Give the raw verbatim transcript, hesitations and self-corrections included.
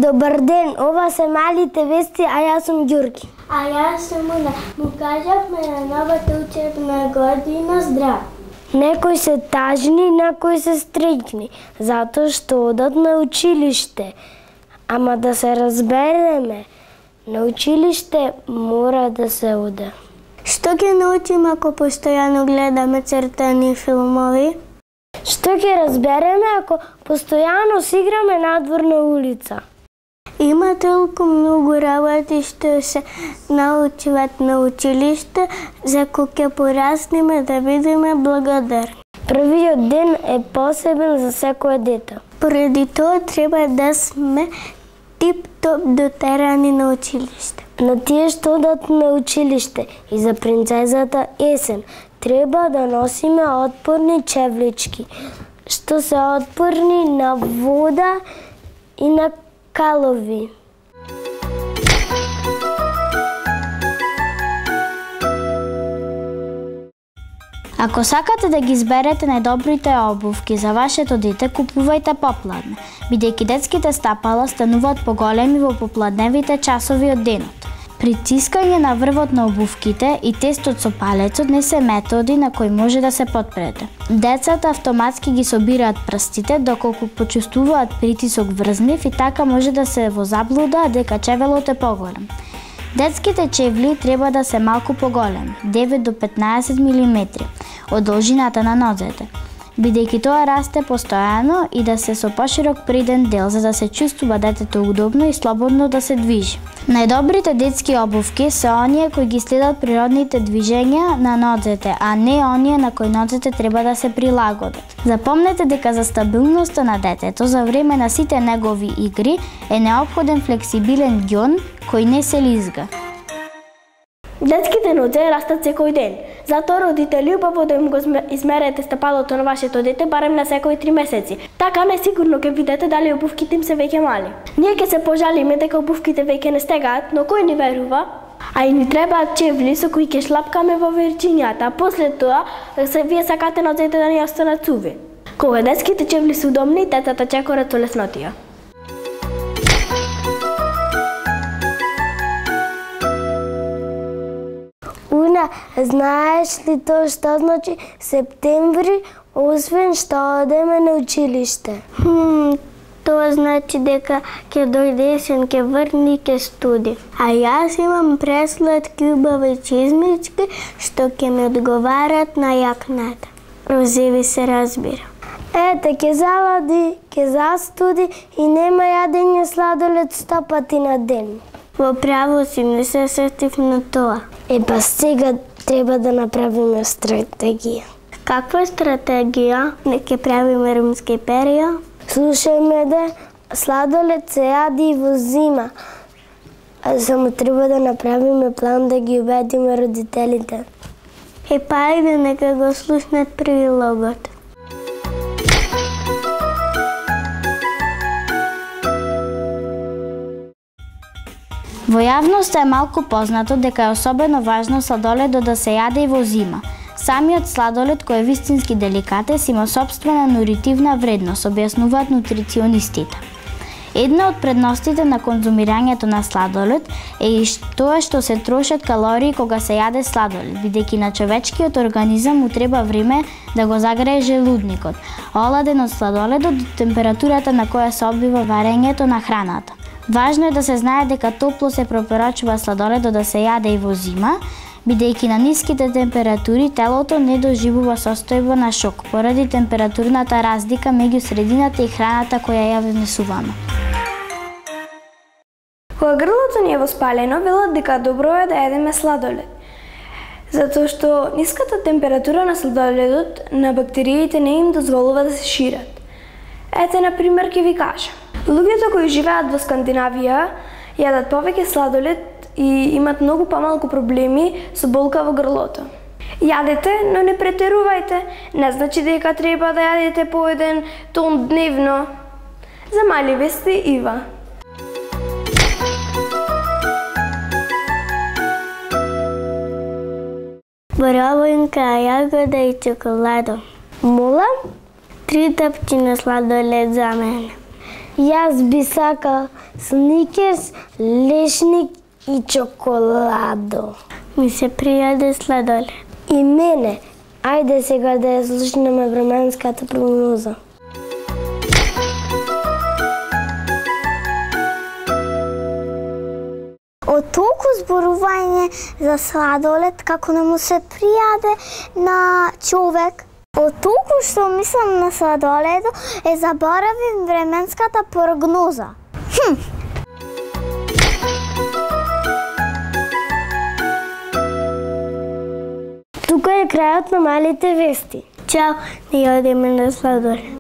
Добар ден, ова се малите вести, а јас сум Ѓурги. А јас сум Уна. Му кажавме на новата учебна година здрав. Некои се тажни, некои се стречни, затоа што одат на училиште. Ама да се разбереме, на училиште мора да се оде. Што ќе научиме ако постојано гледаме цртани филмови? Што ќе разбереме ако постојано си играме надвор на улица? Има толку многу работи што се научуват на училиште, за кои ќе пораснеме да бидеме благодарни. Првиот ден е посебен за секое дете. Поради тоа треба да сме тип-топ дотерани на училиште. На тие што одат на училиште и за принцезата Есен треба да носиме отпорни чевлички, што се отпорни на вода и на калови. Ако сакате да ги изберете најдобрите обувки за вашето дете, купувајте попладне, бидејќи детските стапала стануваат поголеми во попладневите часови од денот. Притискање на врвот на обувките и тестот со палецот не се методи на кои може да се потпрете. Децата автоматски ги собираат прстите доколку почувствуваат притисок врз нив и така може да се во заблуда дека чевелот е поголем. Детските чевли треба да се малку поголеми, девет до петнаесет милиметри, од должината на нозете, бидејќи тоа расте постојано и да се со поширок приден дел за да се чувствува детето удобно и слободно да се движи. Најдобрите детски обувки се оние кои ги следат природните движења на нозете, а не оние на кои нозете треба да се прилагодат. Запомнете дека за стабилноста на детето за време на сите негови игри е неопходен флексибилен ѓон кој не се лизга. Детските нозе растат секој ден, затоа родители убаво да им го измерете стапалото на вашето дете барем на секој три месеци. Така несигурно ќе видите дали обувките им се веќе мали. Ние ќе се пожалиме дека обувките веќе не стегаат, но кој ни верува? А и ни требаат чевли со кои ќе шлапкаме во верчињата, а после тоа се вие сакате нозете да ни останат суви. Кога детските чевли се удобни, децата чекорат со леснотија. Уна, знаеш ли тоа што значи септември, освен што одеме на училиште? Хм, тоа значи дека ќе дојде есен, ќе врни и ќе студи. А јас имам пресладки убави чизмички што ќе ми одговарат на јакната. Розеви се разбира. Ете, ќе залади, ќе застуди и нема јадење сладолед сто пати на ден. Во право си, не се сетив на тоа. Е, па сега треба да направиме стратегија. Каква стратегија? Не ќе правиме румска перија? Слушај ме да, сладолед се јади и во зима. А само треба да направиме план да ги убедиме родителите. Е, па ајде, нека го слушнат прилогот. Во јавноста е малку познато дека е особено важно сладоледот да се јаде и во зима. Самиот сладолед кој е вистински деликатес има сопствена нутритивна вредност, објаснуваат нутриционистите. Една од предностите на конзумирањето на сладолед е и тоа што се трошат калории кога се јаде сладолед, бидејќи на човечкиот организам му треба време да го загрее желудникот, оладен од сладоледот до температурата на која се одбива варењето на храната. Важно е да се знае дека топло се препорачува сладоледот да се јаде и во зима, бидејќи на ниските температури телото не доживува состојба на шок поради температурната разлика меѓу средината и храната која ја внесуваме. Кога грлото ни е воспалено, велат дека добро е да јадеме сладолед, затоа што ниската температура на сладоледот на бактериите не им дозволува да се шират. Ете, на пример, ќе ви кажам. Луѓето кои живеат во Скандинавија јадат повеќе сладолед и имат многу помалку проблеми со болка во грлото. Јадете, но не претерувајте. Не значи дека треба да јадете по еден тон дневно. За мали вести, Ива. Боровинка, јагода и чоколадо. Мола? Три тапчина сладолед за мене. Јас би сакал сникерс, лешник и чоколадо. Ми се пријаде сладолед. И мене. Ајде сега да ја слушнеме временската прогноза. Од толку зборување за сладолед како не му се пријаде на човек, од толку што мислам на сладоледо, е заборавим временската прогноза. Хм. Тука е крајот на малите вести. Чао, не одиме на сладолед.